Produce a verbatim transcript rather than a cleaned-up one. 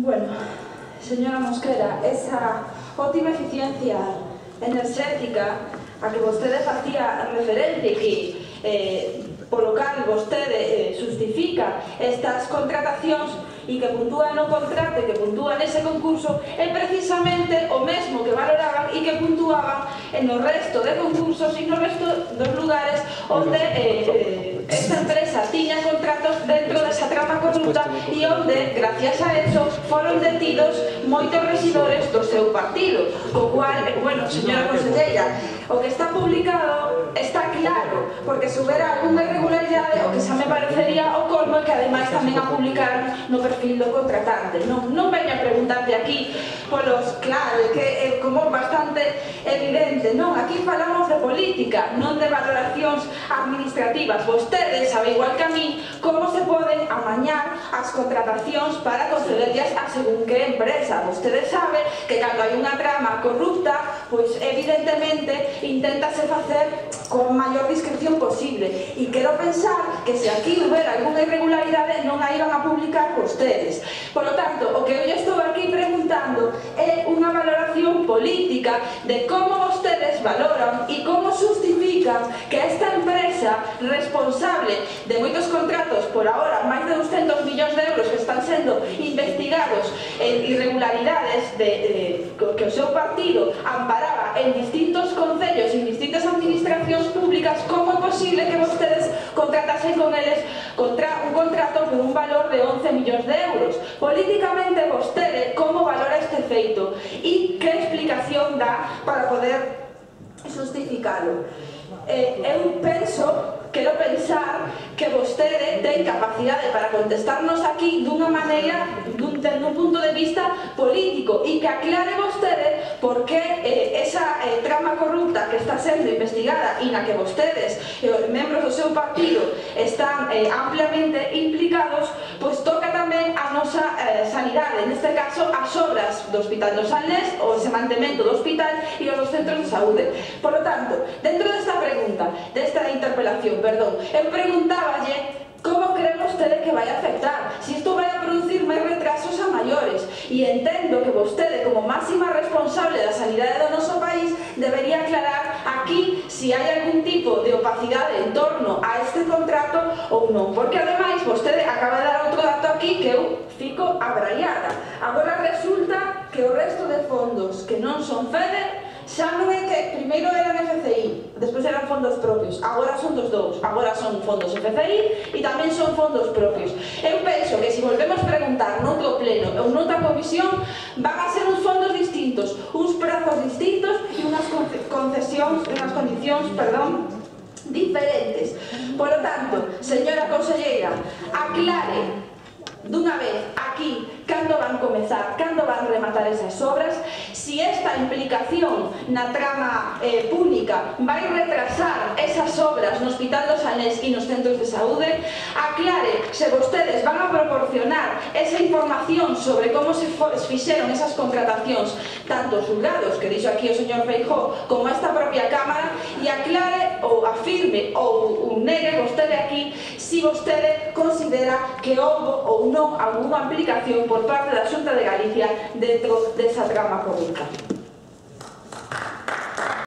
Bueno, señora Mosquera, esa óptima eficiencia enerxética a que vostede facía referente, que eh, polo cal vostede eh, justifica estas contratacións e que puntúa no contrato e que puntúa nese concurso, é precisamente o mesmo que valoraban e que puntuaban no resto de concursos e no resto dos lugares onde eh, eh, esta empresa tiña contratos dentro desa trama corrupta e onde, gracias a eso, foron detidos moitos rexidores do seu partido. Co cual, bueno, señora conselleira, o que está publicado está claro, porque se houbera alguna irregularidade, o que xa me parecería o colmo é que ademais tamén a publicaron no perfil do contratante. Non, non veño a preguntarte aquí polos, claro, que é como bastante evidente, non, aquí falamos de política, non de valoracións administrativas. Vostede sabe igual que a mí como se poden amañar as contratacións para concederllas a según que empresa. Vostede sabe que cando hai unha trama corrupta, pois evidentemente inténtase facer con maior discreción posible, e quero pensar que se aquí houbera alguna irregularidade non a iban a publicar vostedes. Por lo tanto, o que eu estou aquí preguntando é unha valoración política de como vostedes valoran e como justifican que esta empresa responsable de moitos contratos, por ahora máis de doscientos millóns de euros que están sendo investigados en irregularidades de, de, que o seu partido amparaba en distintos concellos e en distintas administracións públicas, como é posible que vostedes contratasen con eles contra un contrato por un valor de once millóns de euros? Políticamente, vostede como valora este feito e que explicación dá para poder justificalo? Eh, eu penso, quero pensar que vostede ten capacidade para contestarnos aquí dunha maneira, dun, dun punto de vista político, e que aclare vostede por que eh, esa eh, trama corrupta que está sendo investigada e na que vostedes, eh, os membros do seu partido, están eh, ampliamente implicados, pois toca tamén a nosa eh, sanidade, neste caso as obras do Hospital do Sanlés, o ese mantemento do hospital e os dos centros de saúde. Por lo tanto, dentro desta pregunta, desta interpelación, perdón, eu preguntáballe como cree vostede que vai afectar, se isto vai a producir máis retrasos a maiores, e entendo que vostede, como máxima responsable da sanidade do noso país, debería aclarar aquí se hai algún tipo de opacidade en torno a este contrato ou non, porque ademais vostede acaba de dar outro dato aquí que eu fico abraiada. Agora resulta que o resto de fondos que non son FEDER xa non é que primeiro eran F C I, despois eran fondos propios, agora son dos dous, agora son fondos F C I e tamén son fondos propios. Eu penso que se volvemos preguntar noutro pleno ou noutra comisión, van a ser uns fondos distintos, uns prazos distintos e unhas concesións, unhas condicións, perdón, diferentes. Por lo tanto, señora conselleira, aclare dunha vez aquí cando van comezar, cando van rematar esas obras, si esta implicación na trama eh, pública vai retrasar esas obras no Hospital do Sanlés e nos centros de saúde, aclare se vostedes van a proporcionar esa información sobre como se fixeron esas contratacións, tanto os xulgados, que dixo aquí o señor Feijóo, como esta propia Cámara, e aclare ou afirme ou negue vostede aquí si vostede considera que houve ou non alguna aplicación por parte da Xunta de Galicia dentro desa trama corrupta.